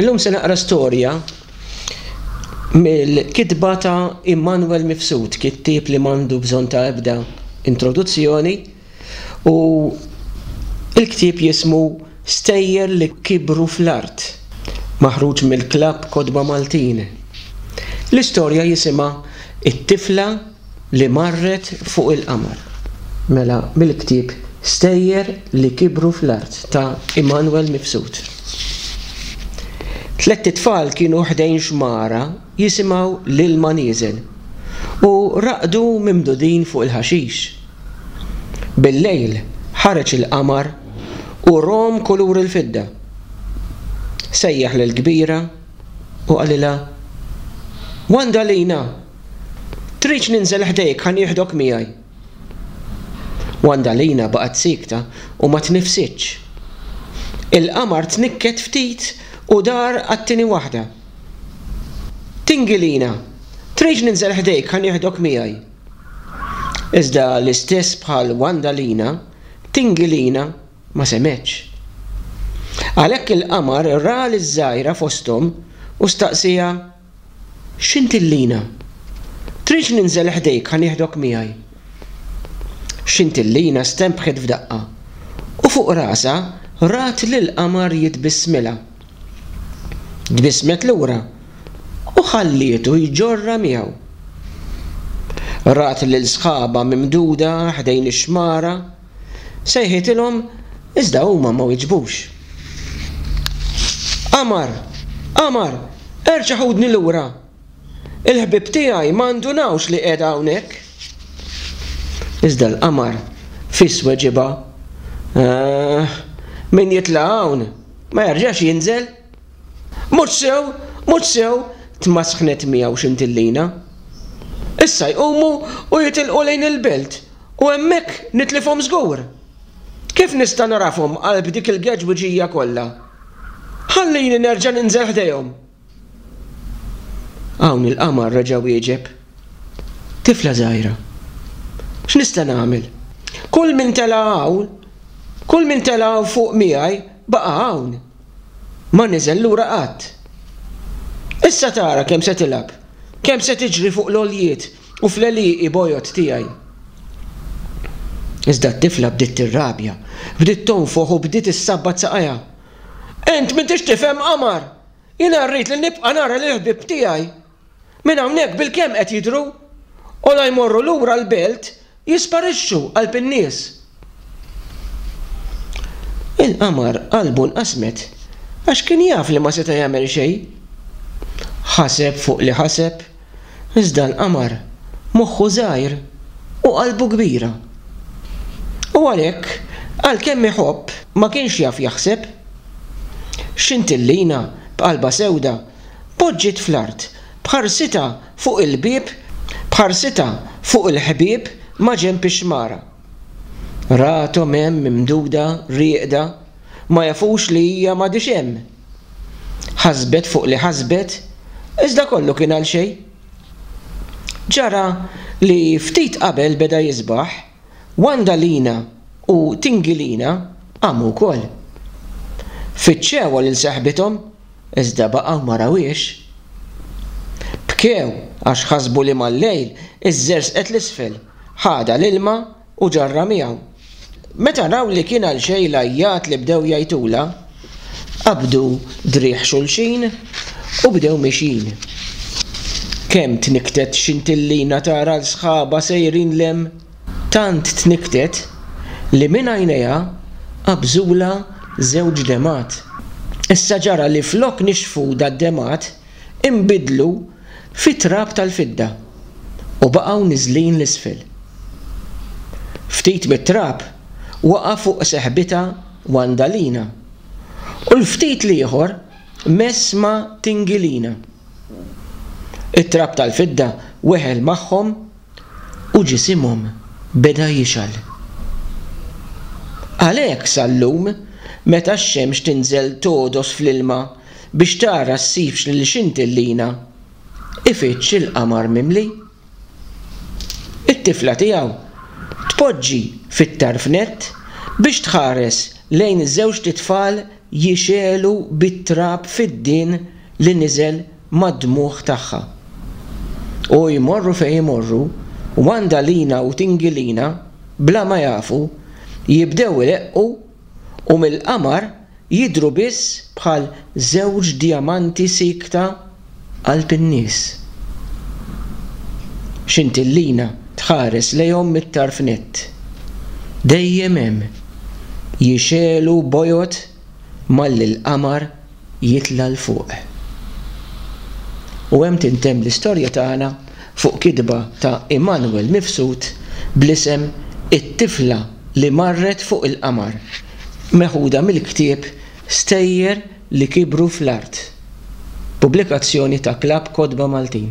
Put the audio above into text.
Illum se naqra storja mill-kitba ta' Immanuel Mifsud, kittieb li m'għandu bżonn ta' ebda introduzzjoni, u l-ktieb jismu Stejjer li Kibru fl-Art, maħruġ mill-Klabb Kotba Maltin. L-istorja jisimha It-Tifla li Marret fuq il-Qamar. Mela mill-ktieb Stejjer li Kibru fl-Art ta' Immanuel Mifsud. Tlett itfal kienu ħdejn xmara jisimgħu l-ilma nieżel u raqdu mimdudin fuq il-ħaxix. Bil-lejl ħareġ il-qamar u rom kulur il-fidda. Sejjaħ lill-kbira u qalilha, Wandalina! Tridx ninżel ħdejk ħa nieħdok miegħi? Wandalina baqgħet siekta u ma tnifsitx. Il-qamar tnikket ftit u dar għat-tieni waħda. Tingilina! Tridx ninżel ħdejk ħa nieħdok miegħi? Iżda l-istess bħal Wandalina, Tingilina ma semgħetx. Għalhekk il-qamar ra liż-żgħira fosthom u staqsieha, X'intillina? Tridx ninżel ħdejk ħa nieħdok miegħi? X'intillina stenbħet f'daqqa u fuq rasha rat lill-qamar jitbissmilha. Tbissmet lura u ħallietu jġorrha miegħu. Rat lil sħabha mimduda ħdejn ix-xmara, sejħitilhom iżda huma ma wiġbux. Qamar! Qamar! Erġa' ħudni lura! Il-ħbieb tiegħi ma ndunawx li qiegħda hawnhekk. Iżda l-qamar fis weġibha, Eh, min jitla' hawn ma jerġax jinżel. Mhux sew, mhux sew, tmasħnet miegħu Xintillina. Issa jqumu u jitilqu lejn il-belt u hemmhekk nitlifhom żgur. Kif nista' nagħrafhom qalb dik il-geġwiġija kollha? Ħallini nerġa' ninżel ħdejhom. Hawn il-qamar reġa' wieġeb, Tifla żgħira, x'nista' nagħmel? Kull min tela' hawn, kull min tela' hawn fuq miegħi baqa' hawn. Ma niżel lura qatt. Issa tara kemm se tilgħab, kemm se tiġri fuq l-għoljiet u fl-għelieqi bojod tiegħi. Iżda t-tifla bdiet tirrabja, bdiet tonfoħ u bdiet issabbat saqajha. Int m'intix tifhem, qamar! Jiena rrid li nibqa' nara lill-ħbieb tiegħi. Minn hawnhekk bilkemm qed jidhru, u la jmorru lura l-belt jisparixxu qalb in-nies. Il-qamar qalbu nqasmet għax kien jaf li ma seta' jagħmel xejn. Ħaseb fuq li ħaseb, iżda l-qamar moħħu żgħir u qalbu kbira. U għalhekk, għalkemm iħobb, ma kienx jaf jaħseb. Xintillina, b'qalbha sewda, poġġiet fl-art, b'ħarsitha fuq il-bieb, b'ħarsitha fuq il-ħbieb maġenb ix-xmara. Rathom hemm mimduda, rieqda, ma jafux li hija m'għadhiex hemm. Ħasbet fuq li ħasbet, iżda kollu kien għalxejn. Ġara li ftit qabel beda jisbaħ, Wandalina u Tingilina qamu wkoll. Fittxewha lil seħbithom iżda baqgħu ma rawhiex. Bkew għax ħasbu li mal-lejl iżżerżqet 'l isfel, ħadha l-ilma u ġarrha miegħu. Meta raw li kien għalxejn l-għajjat li bdew jgħajtulha, qabdu driegħ xulxin u bdew mixjin. Kemm tnikktet Xintillina tara 'l sħabha sejrin 'l hemm! Tant tnikktet li minn għajnejha qabżulha żewġ demgħat. Issa ġara li flok nixfu dad-demgħat inbidlu fi trab tal-fidda u baqgħu niżlin 'l isfel. Ftit mit-trab waqa' fuq seħbitha Wandalina u l-ftit l-ieħor mess ma' Tingilina. It-trab tal-fidda weħel magħhom u ġisimhom beda jixgħel. Għalhekk sal-lum, meta x-xemx tinżel togħdos fl-ilma biex tara ssibx lil Xintillina, ifittx il-qamar mimli. It-tifla tiegħu tpoġġi fit-tarf nett biex tħares lejn żewġt itfal. jixegħlu bit-trab fiddien li niżel mad-dmugħ tagħha. U jmorru fejn imorru, Wandalina u Tingilina, bla ma jafu, jibdew ileqqu u mill-qamar jidhru biss bħal żewġ djamanti siekta qalb in-nies. Xintillina tħares lejhom mit-tarf nett. Dejjem hemm, jixegħlu bojod malli l-qamar jitla' 'l fuq. U hemm tintemm l-istorja tagħna fuq kitba ta' Immanuel Mifsud bl-isem It-tifla li marret fuq il-qamar, meħuda mill-ktieb Stejjer li kibru fl-art, pubblikazzjoni ta' Klabb Kotba Maltin.